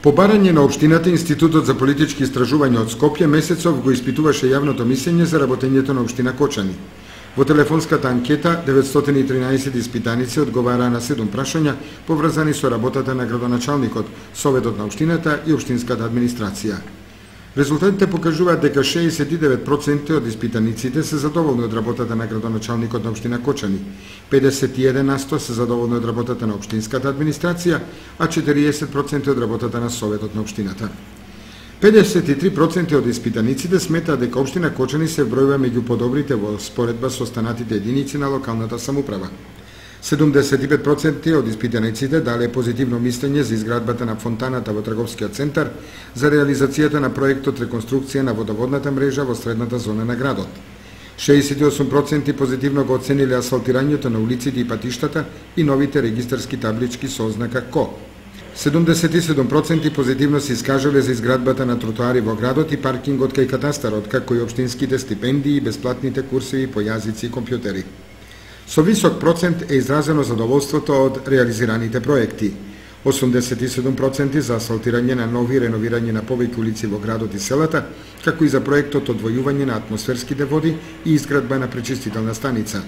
По барање на општината, Институтот за политички истражувања од Скопје месецов го испитуваше јавното мислење за работењето на општина Кочани. Во телефонската анкета 913 испитаници одговараа на 7 прашања поврзани со работата на градоначалникот, советот на општината и општинската администрација. Резултатите покажуваат дека 69% од испитаниците се задоволни од работата на градоначалникот на општина Кочани, 51% се задоволни од работата на општинската администрација, а 40% од работата на советот на општината. 53% од испитаниците сметаат дека општина Кочани се вбројува меѓу подобрите во споредба со останатите единици на локалната самоуправа. 75% од испитаниците дале позитивно мислење за изградбата на фонтаната во трговскиот центар, за реализацијата на проектот реконструкција на водоводната мрежа во средната зона на градот. 68% позитивно го оцениле асфалтирањето на улиците и патиштата и новите регистарски таблички со ознака КО. 77% позитивно се искажале за изградбата на тротоари во градот и паркингот кај катастарот, како и општинските стипендии и бесплатните курсеви по јазици и компјутери. Со висок процент е изразено задоволството од реализираните проекти. 87% за асфалтирање на нови и реновирање на повеќе улици во градот и селата, како и за проектот одвојување на атмосферските води и изградба на пречистителна станица.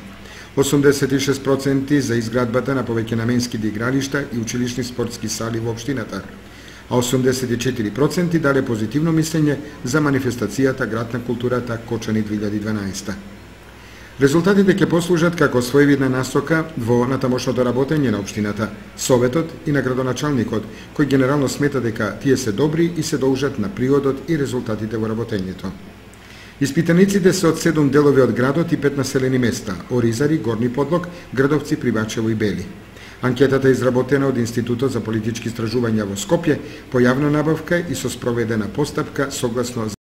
86% за изградбата на повеќе наменските игралишта и училишни спортски сали во општината, а 84% дале позитивно мислење за манифестацијата Град на културата Кочани 2012. Резултатите ќе послужат како своевидна насока во натамошното работење на општината, советот и на градоначалникот, кој генерално смета дека тие се добри и се должат на приодот и резултатите во работењето. Испитаниците се од 7 делови од градот и 5 населени места – Оризари, Горни Подлог, Градовци, Привачево и Бели. Анкетата е изработена од Институтот за политички истражувања во Скопје по јавна набавка и со спроведена постапка согласно